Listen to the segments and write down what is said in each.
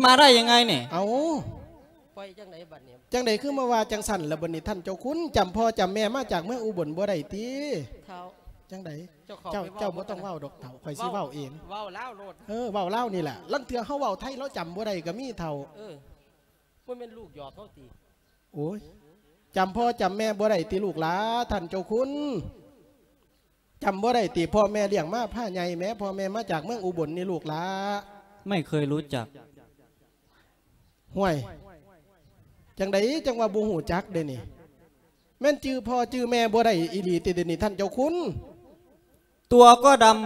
ມາໄດ້ຍັງໄງນີ້? ເອົ້າ ປ່ອຍຈັ່ງໃດບັດນີ້? ຈັ່ງໃດຄືມາວ່າຈັ່ງຊັ້ນລະບັດນີ້ທ່ານເຈົ້າຄຸນ? ຈຳພໍ່ຈຳແມ່ມາຈາກເມືອງອຸບົນບໍ່ໄດ້ຕິ? ເຖົ້າ ຈັ່ງໃດ? ເຈົ້າເຂົ້າໄປເວົ້າ ເຈົ້າບໍ່ຕ້ອງເວົ້າດອກເຖົ້າ ຂ້ອຍຊິເວົ້າເອງ. ເວົ້າລາວໂລດ ເອີ ເວົ້າລາວນີ້ແຫຼະ ລາງເທື່ອເຮົາເວົ້າໄທລາວຈຳບໍ່ໄດ້ກໍມີເຖົ້າ. ເອີ ບໍ່ແມ່ນລູກຫຍອກເຮົາຕິ? ໂອ້ຍ ຈຳພໍ່ຈຳແມ່ບໍ່ໄດ້ຕິລູກຫຼາ ທ່ານເຈົ້າຄຸນ? ຈຳບໍ່ໄດ້ຕິ ພໍ່ແມ່ລ້ຽງມາພາໃຫຍ່ແໝ ພໍ່ແມ່ມາຈາກເມືອງອຸບົນນີ້ລູກຫຼາ. ໄມ່ເຄີຍຮູ້ຈັກ. ຫ້ວຍ ຈັ່ງໃດຈັ່ງວ່າບໍ່ຮູ້ຈັກເດນີ້? ແມ່ນຈື່ພໍ່ຈື່ແມ່ບໍ່ໄດ້ອີ່ຫຼີຕິດຽວນີ້ທ່ານເຈົ້າຄຸນ? ຕົວກໍດຳ.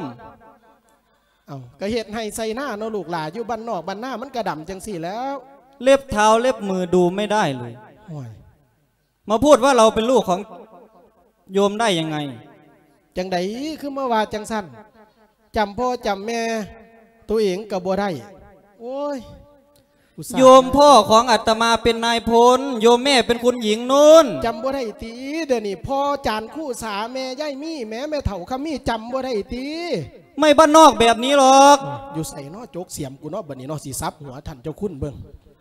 ເອົ້າ ກໍເຮັດໄຮ່ໄຖນາເນາະລູກຫຼາ ຢູ່ບ້ານນອກບ້ານນາມັນກໍດຳຈັ່ງຊີ້ແລ້ວ. ເລັບເທົ້າເລັບມືດູໄມ່ໄດ້ເລີຍ. ໂອ້ຍ ມາພູດວ່າເຮົາເປັນລູກຂອງໂຍມໄດ້ຍັງໄງ? ຈັ່ງໃດຄືມາວ່າຈັ່ງຊັ້ນ? ຈຳພໍ່ຈຳແມ່ໂຕເອງກໍບໍ່ໄດ້. ໂອ້ຍ ອຸດສ່າ ໂຍມພໍ່ຂອງອາດຕະມາເປັນນາຍພົນ ໂຍມແມ່ເປັນຄຸນຍິງນູ້ນ. ຈຳບໍ່ໄດ້ຕິ ດຽວນີ້ພໍ່ຈານຄູສາ ແມ່ຍາຍມີ ແມ່ ແມ່ເຖົ້າຄຳມີ ຈຳບໍ່ໄດ້ຕິ? ໄມ່ບ້ານນອກແບບນີ້ຫຼອກ. ຢູ່ໃສເນາະ ຈົກສຽມກູເນາະ ບັດນີ້ເນາະ ຊິສັບຫົວທ່ານເຈົ້າຄຸນເບິ່ງ.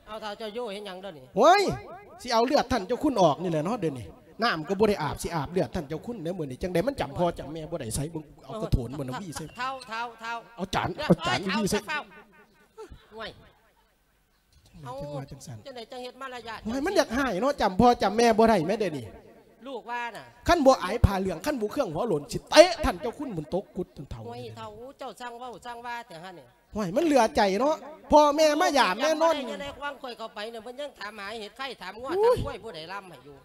ເອົາ ທ້າວເຈົ້າໂຍເຮັດຫຍັງເດີນີ້? ໂອ້ຍ ຊິເອົາເລືອດທ່ານເຈົ້າຄຸນອອກນີ້ແຫຼະເນາະ ດຽວນີ້ ນ້ຳກໍບໍ່ໄດ້ອາບ ຊິອາບເລືອດທ່ານເຈົ້າຄຸນເດ້ມື້ນີ້. ຈັ່ງໃດມັນຈຳພໍ່ຈຳແມ່ບໍ່ໄດ້ ໃສເບິ່ງ ເອົາກະໂຖນມັນຫວີໃສ່ ເຖົ້າ ເຖົ້າ ເຖົ້າ ເອົາຈານ ເອົາຈານຫວີໃສ່. ໂອ້ຍ ຈັ່ງໃດຈັ່ງວ່າຈັ່ງຊັ້ນ? ຈັ່ງໃດຈັ່ງເຮັດມາລະຍາດ? ໂອ້ຍ ມັນຢາກຮ້າຍເນາະ ຈຳພໍ່ຈຳແມ່ບໍ່ໄດ້ແມ້ດຽວນີ້. ລູກວ່ານະ ຄັນບໍ່ອາຍຜ້າເຫຼືອງ ຄັນບໍ່ເຄື່ອງຫົວໂຫຼນ ຊິເຕະທ່ານເຈົ້າຄຸນໝູນຕົກກຸດຈົນເຖົ້າ. ໂອ້ຍ ເຖົ້າ ເຈົ້າຊ່າງເວົ້າຊ່າງວ່າແທ້ຫັ້ນນີ້. ໂອ້ຍ ມັນເຫຼືອໃຈເນາະ ພໍ່ແມ່ມາຢາມແມ່ນອນ. ຍັງໄດ້ຄວາມຂ້ອຍເຂົ້າໄປນີ້ ເພິ່ນຍັງຖາມຫາເຫັດໄຂ່ ຖາມງົວ ໂອ້ຍ ຖາມຄວາຍ ຜູ້ໃດລຳໃຫ້ຢູ່?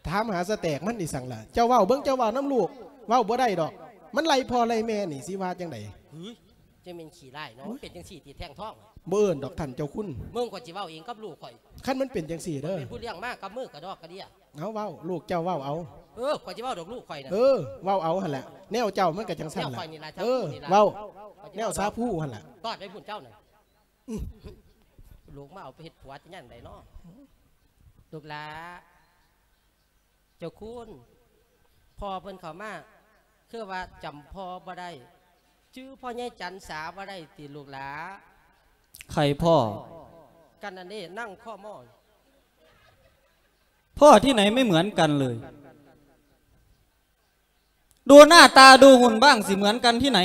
ຖາມຫາສະແຕກມັນອີ່ສັງລະ? ເຈົ້າເວົ້າເບິ່ງ ເຈົ້າເວົ້ານຳລູກ ເວົ້າບໍ່ໄດ້ດອກ ມັນໄລ່ພໍ່ໄລ່ແມ່ນີ້ ຊິວ່າຈັ່ງໃດ? ຫື ຈັ່ງແມ່ນຂີ້ຮ້າຍເນາະ. ໂອ້ຍ ເປັນຈັ່ງຊີ້ຕິແທ່ງທອງ? ບໍ່ເອີ້ນດອກທ່ານເຈົ້າຄຸນ. ມຶງກໍຊິເວົ້າເອງກັບລູກຂ້ອຍ. ຄັນມັນເປັນຈັ່ງຊີ້ເດີ ເປັນຜູ້ລ້ຽງມາກັບມືກະດອກກະເດຍ. ເອົາ ເວົ້າ ລູກເຈົ້າເວົ້າເອົາ. ເອີ ຂ້ອຍຊິເວົ້າດອກລູກຂ້ອຍນະ. ເອີ ເວົ້າເອົາຫັ້ນແຫຼະ ແນວເຈົ້າມັນກໍຈັ່ງຊັ້ນລະ. ແນວຂ້ອຍນີ້ລະ ເອີ ເຈົ້ານີ້ລະ ເວົ້າ ຂ້ອຍຊິເວົ້າ ແນວສາພູຫັ້ນລະ. ຕອດໄປພຸ້ນເຈົ້ານະ. ອື ລູກມາເອົາໄປເຮັດຜົວຈະຍັງໃດເນາະ? ລູກຫຼ້າ ເຈົ້າຄຸນ ພໍ່ເພິ່ນເຂົ້າມາ ຄືວ່າຈຳພໍ່ບໍ່ໄດ້ ຈື່ພໍ່ໃຫຍ່ຈັນສາບໍ່ໄດ້ຕິລູກຫຼ້າ? ໃຜພໍ່? ກັນອັນນີ້ນັ່ງຄໍໝໍ້. พ่อที่ไหนไม่เหมือนกันเลย ดูหน้าตาดูหุ่นบ้างสิเหมือนกันที่ไหน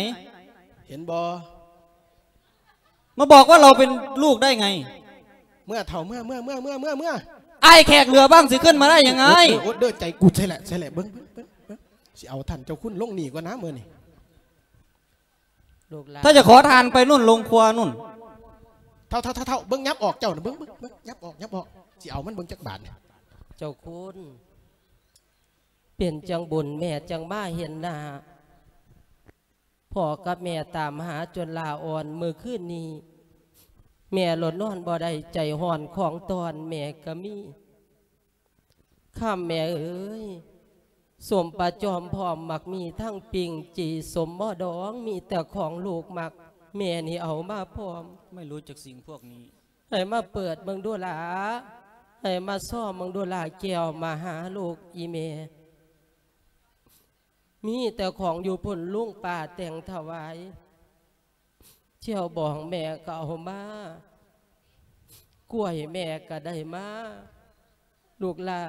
เห็นบ่ มาบอกว่าเราเป็นลูกได้ไง เมือเฒ่า เมือ เมือ เมือ อ้ายแขกเหลือบ้างสิขึ้นมาได้ยังไง โอ๊ย เด้อ ใจกูใช่แหละ ใช่แหละ เบิ่ง เบิ่ง เบิ่ง เบิ่ง สิเอาท่านเจ้าคุณลงนี่ก่อนนะมื้อนี้ ลูกหลาน ถ้าจะขอทานไปนู่นลงครัวนู่น เฒ่า เฒ่า เฒ่า เฒ่า เบิ่ง ยับออกเจ้าน่ะ เบิ่ง เบิ่ง เบิ่ง ยับออก ยับออก สิเอามันเบิ่งจักบาทนี่ เจ้าคุณ เป็นจั่งบุญแม่จั่งมาเห็นหน้า พ่อกับแม่ตามหาจนลาอ่อน มื้อคืนนี้ แม่หลดนอนบ่ได้ ใจฮ้อนของตอนแม่ก็มี ค่ำแม่เอ๋ย ส้มปลาจอมพร้อมหมากมีทั้งปิ้ง จี่ส้มหม้อดอง มีแต่ของลูกมัก แม่นี่เอามาพร้อม ไม่รู้จักสิ่งพวกนี้ ให้มาเปิดเบิ่งดูหล้า ให้มาซ่อมเบิ่งดูหล้า แก้วมาหาลูกอีแม่ มีแต่ของอยู่พุ้นลุงป้าแต่งถวาย แจ่วบองแม่ก็เอามา กล้วยแม่ก็ได้มา ลูกหล้า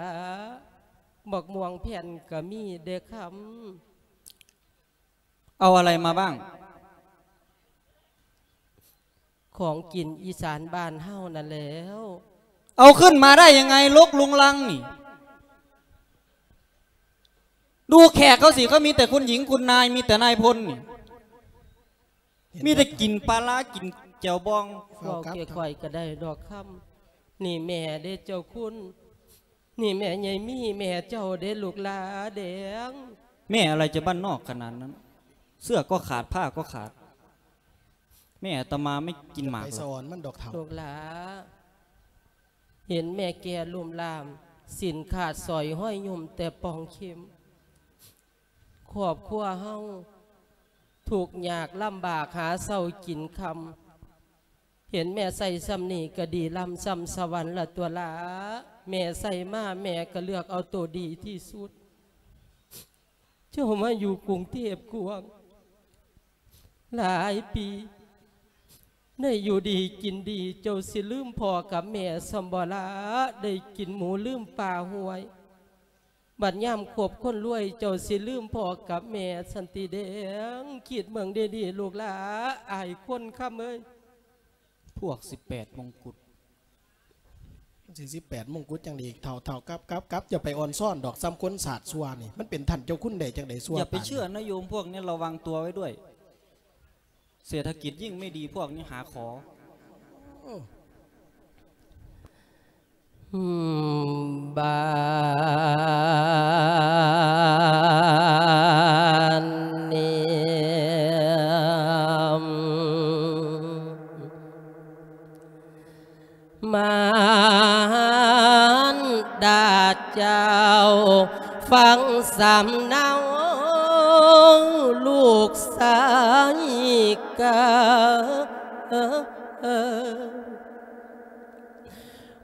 บักม่วงแผ่นก็มีเด้อคำ เอาอะไรมาบ้าง ของกินอีสานบ้านเฮานั่นแหล้ว เอาขึ้นมาได้ยังไง รกรุงรังนี่ ดูแขกเขาสิ เขามีแต่คุณหญิงคุณนาย มีแต่นายพลนี่ มีแต่กินปลาร้า กินแจ่วบอง เว้าแก่ข่อยก็ได้ดอกคำ นี่แม่เด้เจ้าคุณ นี่แม่ใหญ่มี แม่เจ้าเด้ลูกหล้าแดง แม่อะไรจะบ้านนอกขนาดนั้น เสื้อก็ขาด ผ้าก็ขาด แม่อาตมาไม่กินหมากหรอก ไปสะออนมันดอกเฒ่า ลูกหล้า เห็นแม่แก่ลุ่มล่าม สิ้นขาดสอยห้อยยุ่มแต่ปองเข็ม ครอบครัวเฮาทุกข์ยากลำบากหาเช้ากินค่ำ เห็นแม่ใส่ส่ำนี้ก็ดีล้ำส่ำสวรรค์ละตั่วหล้า แม่ใส่มาแม่ก็เลือกเอาโตดีที่สุด เจ้ามาอยู่กรุงเทพฯกวางหลายปี ໄດ້ຢູ່ດີກິນດີ ເຈົ້າຊິລືມພໍ່ກັບແມ່ຊ່ຳບໍ່ລະ? ໄດ້ກິນໝູລືມປາຫ້ວຍ ບັດຍາມຄົບຄົນລວຍ ເຈົ້າຊິລືມພໍ່ກັບແມ່ຊັ້ນຕິແດງ? ຄິດເບິ່ງດີໆ ລູກຫຼ້າ ອ້າຍຄົນຄຳເອີຍ. ພວກສິບແປດມົງກຸດ ມັນຊິສິບແປດມົງກຸດຈັ່ງໃດອີກ ເຖົ້າໆ ກັບໆໆ ຢ່າໄປອ່ອນຊ້ອນດອກ ສ່ຳຄົນສາດຊົ່ວນີ້ ມັນເປັນທ່ານເຈົ້າຄຸນໄດ້ຈັ່ງໃດຊົ່ວປານນີ້? ຢ່າໄປເຊື່ອນະໂຍມ ພວກນີ້ລະວັງຕົວໄວ້ດ້ວຍ ເສດຖະກິດຍິ່ງໄມ່ດີ ພວກນີ້ຫາຂໍ. ໂອ້ ບານນີ້ ມາ ດາເຈົ້າ ຟັງສຳເນົາລູກຊາຍກາ.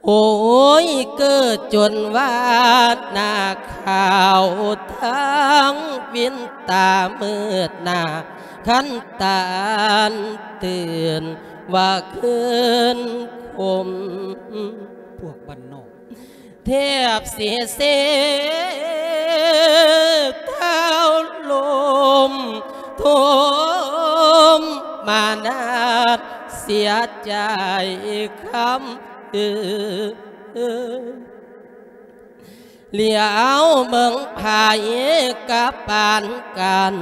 ໂອ້ຍ ເກີດຈົນວ່າໜ້າຂາວ ທັງວິນຕາມືດໜ້າ ຄັນຕານຕື່ນວ່າຄືນຄົມ ພວກບ້ານນອກ ແທບຊິເຊເທົ້າລົມ ໂທມມານາດເສຍໃຈຄຳເອີ. ຫຼຽວເບິ່ງໃຜກັບປານກັນ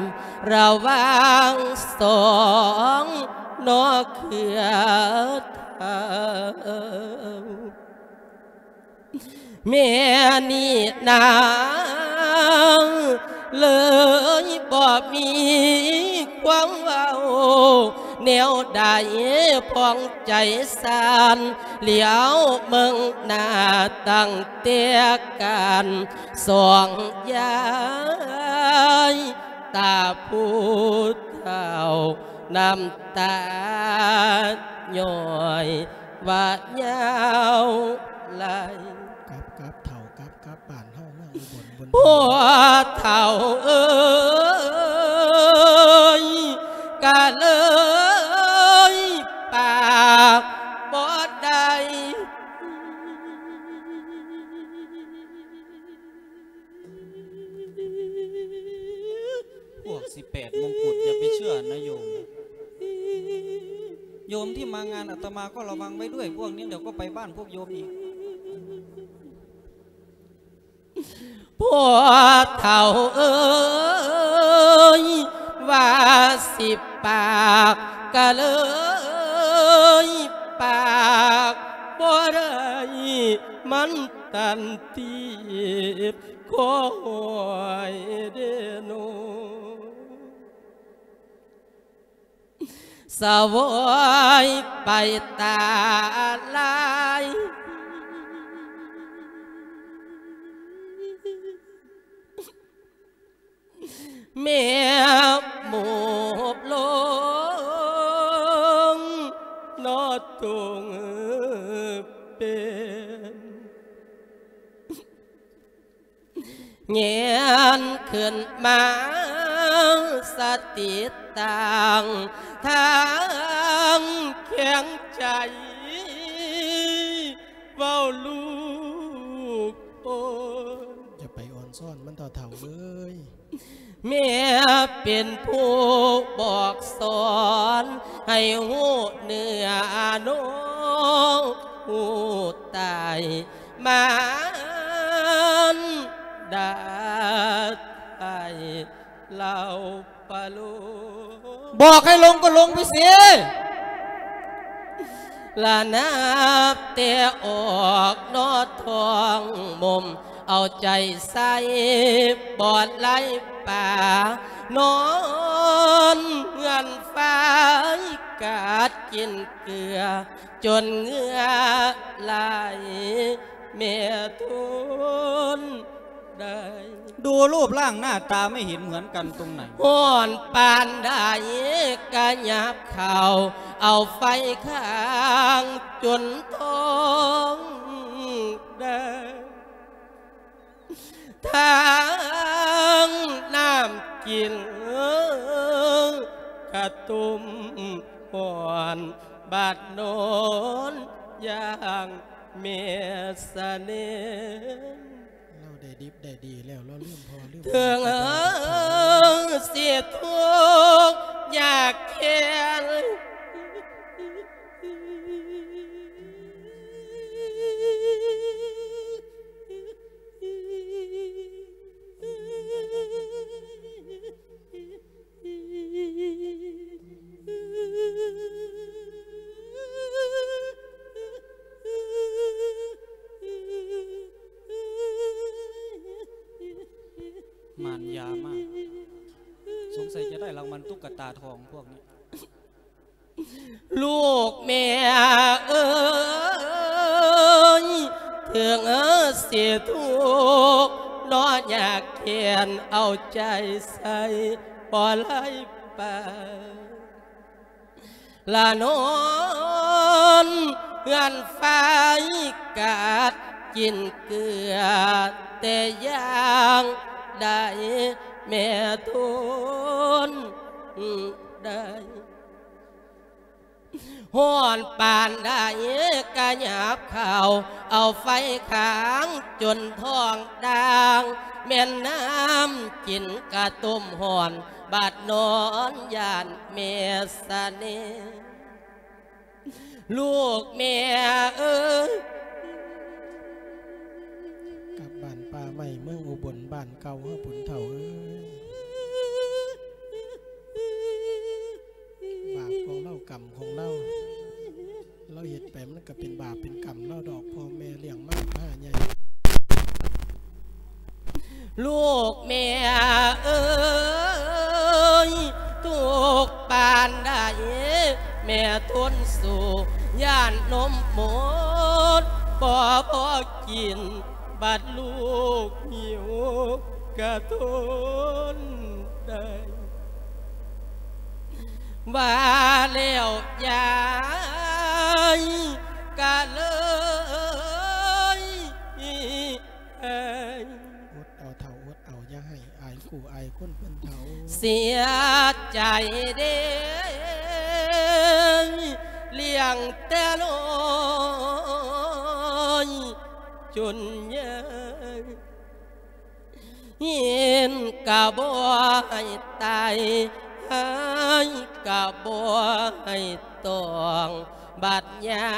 ລະຫວ່າງສອງໜໍ່ເຄືອເທົ້າ. ແມ່ນີ້ນາງເລີຍບໍ່ມີຄວາມເວົ້າແນວໃດຜ່ອງໃຈຊານ ຫຼຽວເບິ່ງໜ້າຕັ້ງແຕ່ການສອງຍາຍ ຕາຜູ້ເຖົ້ານ້ຳຕາຍ້ອຍ ວ່າຍາວຫຼາຍ. ກັບ ກັບເຖົ້າ ກັບ ກັບບ້ານເຮົາເມືອງອຸບົນ ບຸນ ພໍ່ເຖົ້າເອີຍ ກະເລີຍປາກບໍ່ໄດ້. ພວກສິບແປດມົງກຸດ ຢ່າໄປເຊື່ອນະໂຍມ. ໂຍມທີ່ມາງານອາດຕະມາກໍລະວັງໄວ້ດ້ວຍ ພວກນີ້ດຽວກໍໄປບ້ານພວກໂຍມອີກ. ພໍ່ເຖົ້າເອີຍ ວ່າສິປາກກະເລີຍປາກບໍ່ໄດ້ ມັນຕັນຕີບ ຂໍຫວຍເດໂນ ສະຫວຍໄປຕາລາຍ ແມ່ໝູບລົງນອດຕົງເປັນ. ແງນຂຶ້ນມາສະຕິຕັ້ງທາງແຂງໃຈ ເວົ້າລູກໂອຍ. ຢ່າໄປອ່ອນຊ້ອນມັນເຖົ້າໆເອີຍ. ແມ່ເປັນຜູ້ບອກສອນໃຫ້ຮູ້ເນື້ອໂນ ຮູ້ຕາຍ ມານດາໄທເລົ່າປະໂລ ບອກໃຫ້ລົງກໍລົງໄປຊິ ລະນັບແຕ່ອອກນອກທ້ອງໝົມ ເອົາໃຈໃສ່ບອດໄລ່ປາ ນອນເຮືອນຝາຍກາດກິນເກືອ ຈົນເຫື່ອໄຫຼ ແມ່ທົນໄດ້. ดูรูปร่างหน้าตาไม่เห็นเหมือนกันตรงไหน ຮ້ອນປານໃດກະຫຍັບເຂົ້າ ເອົາໄຟຄ້າງຈົນທ້ອງໄດ້ ທັງນ້ຳກິນກະຕົ້ມຮ້ອນ ບາດນອນຢ່າງແມ່ສະເໜັນ ລາວໄດ້ດິບໄດ້ດີແລ້ວ ລາວລືມພໍ່ລືມ ເຖິງຊິທຸກຍາກແຄ້ນ ໝານຢາມາກ ສົງໄສຈະໄດ້ລາງວັນຕຸກກະຕາທອງພວກນີ້. ລູກແມ່ເອີຍ ເຖິງຊິທຸກເນາະຍາກແຄ້ນ ເອົາໃຈໃສ່ບໍ່ໄດ້ປານ ລະນອນເຮືອນໄຟກາດກິນເກືອ ແຕ່ຢ່າງໃດແມ່ທົນໄດ້ ຮ້ອນປານໃດກະຫຍາບເຂົ້າ ເອົາໄຟຄາງຈົນທ້ອງດ່າງ ແມ່ນນ້ຳກິນກະຕົ້ມຮ້ອນ ບາດນອນຢ້ານແມ່ສະເໜັນ ລູກແມ່ເອີຍ ກັບບ້ານປ່າໄມ້ເມືອງອຸບົນ ບ້ານເກົ່າເຮົາພຸ້ນເຖົ້າເອີຍ ບາບຂອງລາວ ກຳຂອງລາວ ລາວເຮັດໄປມັນກະເປັນບາບເປັນກຳລາວດອກ ພໍ່ແມ່ລ້ຽງມາພາໃຫຍ່ ລູກແມ່ເອີຍ ທຸກປານໃດແມ່ທົນສູ້ ຢ້ານນົມໝົດບໍ່ພໍກິນ ບັດລູກຫິວກະທົນໄດ້ ວ່າແລ້ວຍາຍກະເລີຍ ອົດເອົາເຖົ້າ ອົດເອົາ ຢ່າໃຫ້ອາຍຄູ່ອາຍຄົນເພິ່ນເຖົ້າ ເສຍໃຈເດ້ ລ້ຽງແຕ່ນ້ອຍຈົນໃຫຍ່ ເຫັນກະບໍ່ໃຫ້ໄຕ້ ຮ້າຍກະບໍ່ໃຫ້ຕ້ອງ ບັດຍາ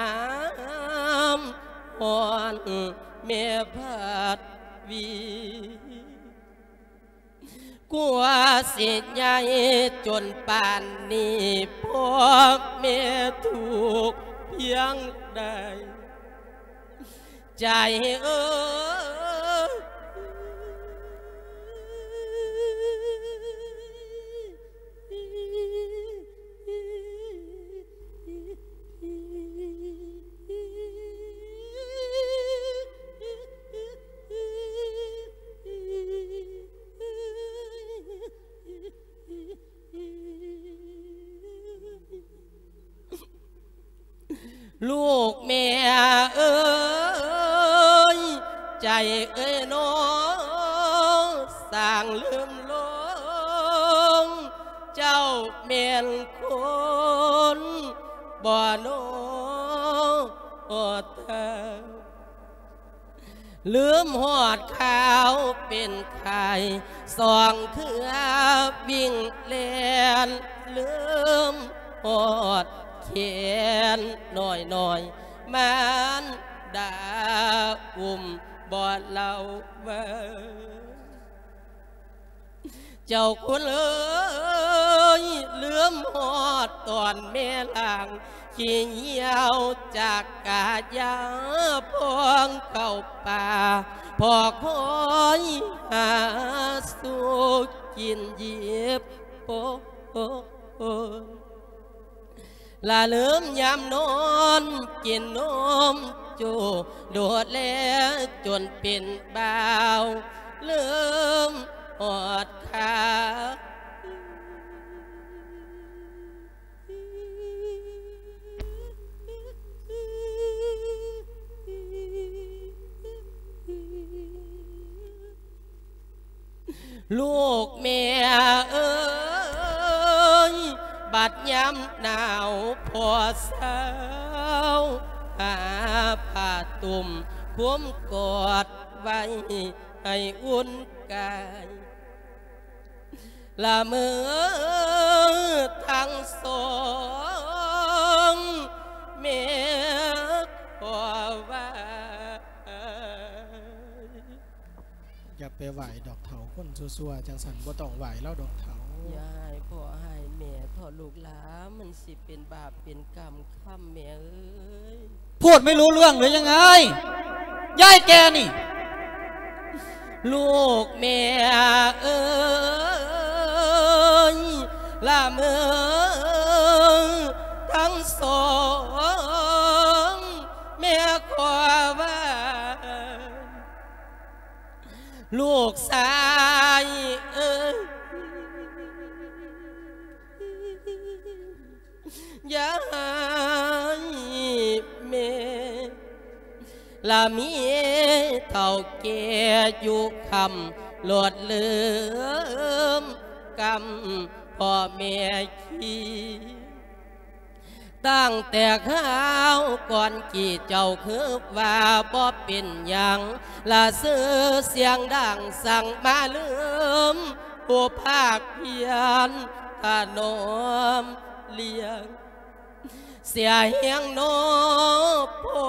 ມຮ້ອນແມ່ພັດວີ ກວ່າຊິໃຫຍ່ຈົນປານນີ້ ພໍ່ແມ່ທຸກພຽງໃດ ໃຈເອີຍ ລູກແມ່ເອີຍ ໃຈເອີຍໜໍ ຊ່າງລືມຫຼົງ ເຈົ້າແມ່ນຄົນບໍ່ໜໍ ລືມຮອດຂ່າວເປັນໄຂ້ ສອງເທື່ອວິ່ງແລ່ນ ລືມຮອດແຂນນ້ອຍໆ ມານດາອຸ້ມບໍ່ເລົ່າວ່າ ເຈົ້າຄຸນເອີຍ ລືມຮອດຕອນແມ່ລ້າງ ຂີ້ຫ່ຽວຈາກກາຢາ ພອງເຂົ້າປ່າ ພໍຄອຍຫາສູ່ກິນຢິບໂປນ ລະລືມຍາມນອນກິນນົມໂຈ້ ໂດດແລຈົນເປັນບ່າວ ລືມຮອດຄ່າ ລູກແມ່ເອີຍ ບັດ ຍາມໜາວພໍເຊົາ ຫາຜ້າຕຸ້ມຄຸມກອດໄວ້ໃຫ້ອຸ່ນກາຍ ລະເມີທັງສອງ ແມ່ຂໍຫວາຍ. ຢ່າໄປຫວາຍດອກເຖົ້າ ຄົນຊົ່ວໆຈັ່ງຊັ້ນບໍ່ຕ້ອງຫວາຍລາວດອກເຖົ້າ. ຢ່າໃຫ້ພໍ່ໃຫ້ແມ່ເຖາະລູກຫຼາ ມັນຊິເປັນບາບເປັນກຳຄຳແມ່ເອີຍ. พูดไม่รู้เรื่องหรือยังไง ยายแกนี่ ລູກແມ່ເອີຍ ລະເມີທັງສອງ ແມ່ຂໍຫວາຍ ລູກຊາຍເອີຍ ຢ່າໃຫ້ແມ່ລະມີເຖົ້າແກ່ຢູ່ຄຳ ໂລດລືມກຳພໍ່ແມ່ຄີ. ຕັ້ງແຕ່ຄາວກ່ອນກີ້ເຈົ້າຄືວ່າບໍ່ເປັນຫຍັງ ລະຊື່ສຽງດັງສັ່ງມາລືມ ຜູ້ພາກພຽນຖະໜອມລ້ຽງ ເສຍແຮງໜໍ່ພໍ່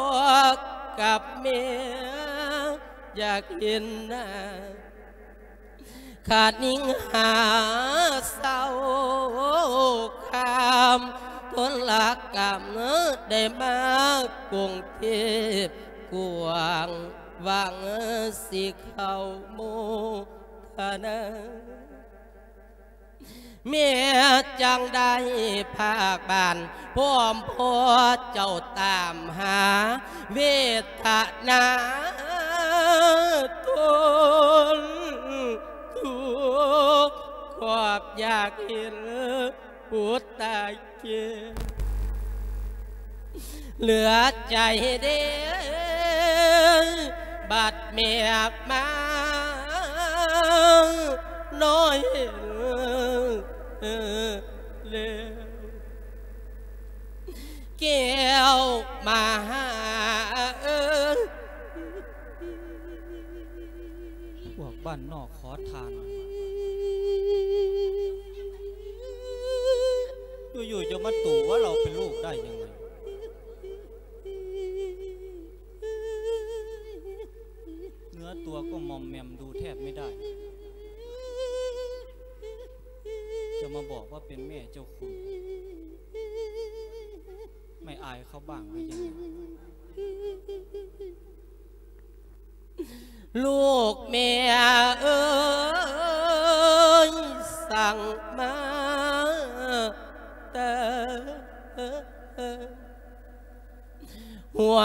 ກັບແມ່ ຢາກເຫັນໜ້າ ຂະນິງຫາເຊົາຄາມ ທົນລະກຳໄດ້ມາກຸງເທບ ກວ້າງຫວັງຊິເຂົ້າໂມທະນາ ແມ່ຈັ່ງໄດ້ພາກບ້ານ ພ້ອມພໍ່ເຈົ້າຕາມຫາ ເວທະນາທົນທຸກ ຄວາມຢາກເຫັນບຸດຕາເກ ເຫຼືອໃຈເດ້ ບັດແມ່ມານ້ອຍເອີຍ ແລ້ວ ແກ້ວມະຫາເອີຍ ພວກບ້ານນອກຂໍທານ ຢູ່ໆຈະມາຕູວ່າເຮົາເປັນລູກໄດ້ຫຍັງໄງ? ເນື້ອຕົວກໍໝອມແໝມ ດູແທບໄມ່ໄດ້ ຈະມາບອກວ່າເປັນແມ່ເຈົ້າຄຸນ ໄມ່ອາຍເຂົາບ້າງຫຼືຍັງ? ລູກແມ່ເອີຍ ສັ່ງມາແຕ່ ຫົວ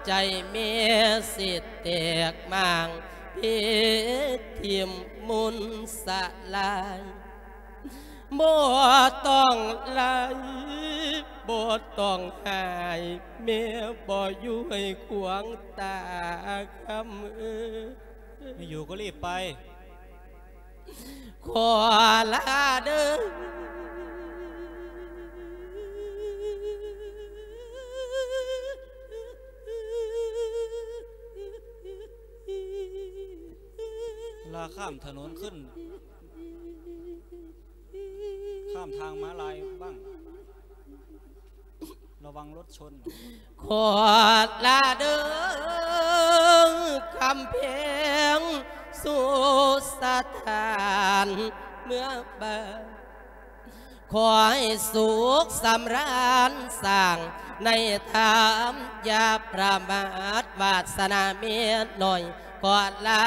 ໃຈແມ່ຊິແຕກໝ່າງ ເພທິມມຸນສະລາຍ ບໍ່ຕ້ອງໄລ່ ບໍ່ຕ້ອງຫາຍ ແມ່ບໍ່ຢູ່ໃຫ້ຂວາງຕາຄຳເອີຍ ໄມ່ຢູ່ກໍລີບໄປ. ຂໍລາເດີ ລາຂ້າມຖະໜົນຂຶ້ນ ຂ້າມທາງມ້າລາຍບ້າງ. ລະວັງລົດຊົນ. ຂໍລາເດີ ຄຳແພງສູ່ສະຖານເມືອງບ້ານ ຂໍໃຫ້ສຸກສຳລານສ້າງໃນທຳ ຢ່າປະໝາດວາດສະໜາເມດນ້ອຍ ຂໍລາ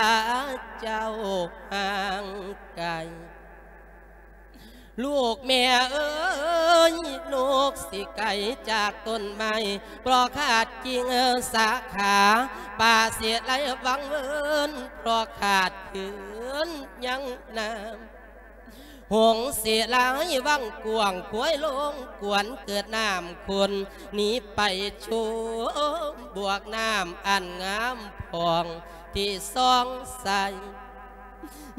ເຈົ້າຫ່າງໄກ. ລູກແມ່ເອີຍ ນົກຊິໄກຈາກຕົ້ນໄມ້ ເພາະຂາດກິ່ງສາຂາ ປ່າຊິໄຫຼວັງເວີນ ເພາະຂາດຄືນຍັງນ້ຳ ຫົງຊິໄຫຼວັງກວ້າງ ຄວາຍລົງກວນເກີດນ້ຳຂຸ້ນ ໜີໄປຊຸມບວກນ້ຳອັນງາມຜ່ອງ ທີ່ສ່ອງໃສ.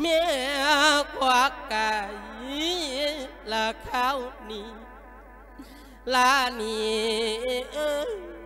ແມ່ຄວັກໄກ່ລະຄາວນີ້ ລານີເອີຍ